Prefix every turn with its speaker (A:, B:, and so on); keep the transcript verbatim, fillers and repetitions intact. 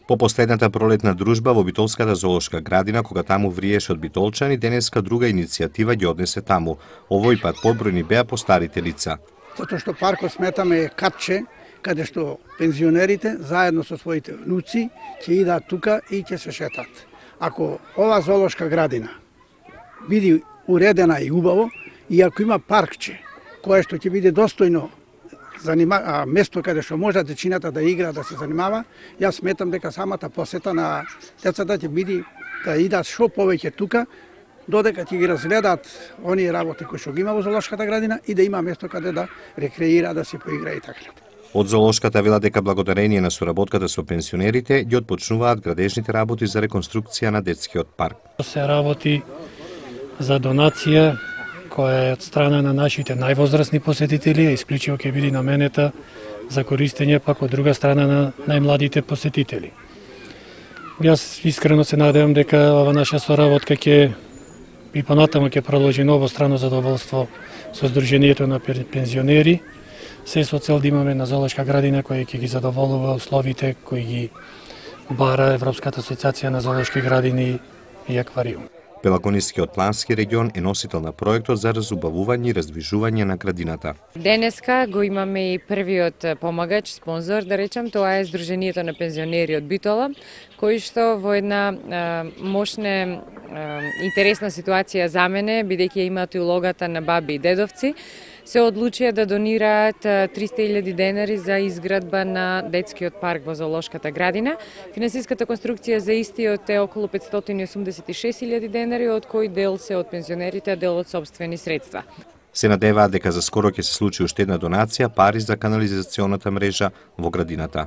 A: По последната пролетна дружба во Битолската зоолошка градина, кога таму вриеше од битолчани, денеска друга иницијатива ги однесе таму. Овој пат побројни беа постарите лица.
B: Затоа што паркот сметаме е капче, каде што пензионерите заедно со своите внуци ќе идат тука и ќе се шетат. Ако ова зоолошка градина биде уредена и убаво, и ако има паркче кое што ќе биде достојно занима, а, место каде што може дечината да игра, да се занимава, јас сметам дека самата посета на децата ќе биде да идат што повеќе тука, додека ќе ги разгледаат оние работи кои што ги има во зоолошката градина и да има место каде да рекреира, да се поигра и така.
A: Од зоолошката вела дека благодарение на соработката со пенсионерите ги отпочнуваат градежните работи за реконструкција на детскиот парк.
C: Се работи за донација која е од страна на нашите највозрасни посетители, исклучиво ќе биде наменета за користење пак од друга страна на најмладите посетители. Јас искрено се надевам дека ова наша соработка ќе и понатаму ќе продолжи на обострано задоволство со Сдруженијето на пензионери, се со цел да имаме на зоолошка градина која ќе ги задоволува условите кои ги бара Европската асоциација на зоолошки градини и аквариум.
A: Пелагонискиот плански регион е носител на проектот за разубавување и раздвижување на градината.
D: Денеска го имаме и првиот помагач, спонзор, да речам, тоа е Сдруженијето на пензионери од Битола, кој што во една а, мощна, а, интересна ситуација за мене, бидејќи имаат и улогата на баби и дедовци, се одлучија да донираат триста илјади денари за изградба на детскиот парк во зоолошката градина. Финансиската конструкција за истиот е околу петстотини и осумдесет и шест илјади денари, од кој дел се од пензионерите, а дел од сопствени средства.
A: Се надеваат дека за скоро ќе се случи уште една донација пари за канализационата мрежа во градината.